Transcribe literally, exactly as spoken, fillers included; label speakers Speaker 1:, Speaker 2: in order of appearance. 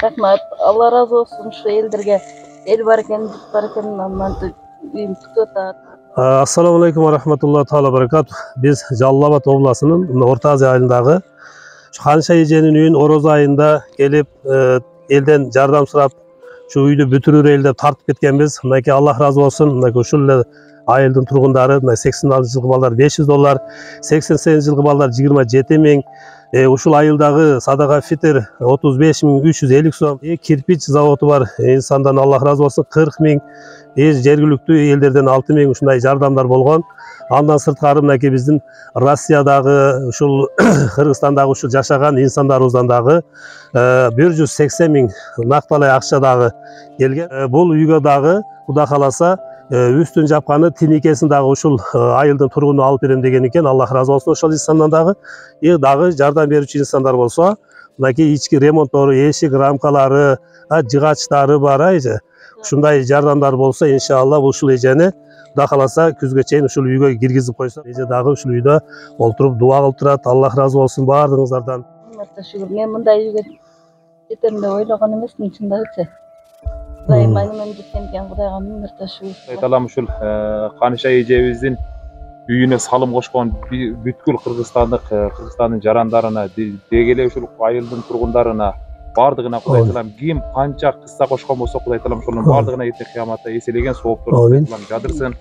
Speaker 1: Рахмат. Алла разы болсун ушу элдерге. Эл бар экен, жұрт бар екен, мынтип үйүм күтүп атат.
Speaker 2: Ассаламу алейкум ва рахматуллахи таала баракату. Биз Жалал Абад областынын Орто Азия айылындагы Канша эженин үйүн ороз айында келип элден жардам сурап, şu үйдү бүтүрөр деп тартып кеткенбиз. Мынакей Аллах разы болсун. Мынакей ушул эле айылдын тургундары сексен алтынчы жылкы балдар беш жүз доллар, сексен сегизинчи жылкы балдар жыйырма жети миң, ушул айылдагы садака фитр отуз беш миң үч жүз элүү сом, кирпич заводу бар инсандан Аллах разы болсун кырк миң, жергиликтүү элдерден алты миң ушундай жардамдар болгон. Андан сырткары мынакей биздин Россиядагы, ушул Кыргызстандагы ушул жашаган инсандарыбыздан дагы бир жүз сексен миң накталай акча дагы келген. Бул үйгө дагы Кудай кааласа үстүн жапканы тиникесин дагы ушул айылдын тургуну алып берем деген экен. Аллах разы болсун ошол инсандан дагы. И дагы жардам берүүчү инсандар болсо, мынакей ички ремонттору, эшик рамкалары, жыгачтары бар айжы. Ушундай жардамдар болсо, иншалла ушул эжени Кудай кааласа күзгө чейин ушул үйгө киргизип койсо, эже дагы ушул үйдө олтуруп дуа кылып турат. Аллах разы болсун баардыгыңыздардан.
Speaker 1: Мырта шүгүр. Мен мындай үйгө жетем деп ойлогон эмесмин, чындыгычы. Кудайым айныман жеткен экен, Кудайга миң мырта шүгүр.
Speaker 3: Айталам ушул Канша эжебиздин үйүнө салым кошкон бүткүл Кыргызстандык, Кыргызстандын жарандарына, деги эле ушул айылдын тургундарына бардыгына Кудай таалам ким канча кысса кошкон болсо, Кудай таалам ошонун бардыгына эртең кыяматта эселеген соопторду Кудай таалам жадырсын.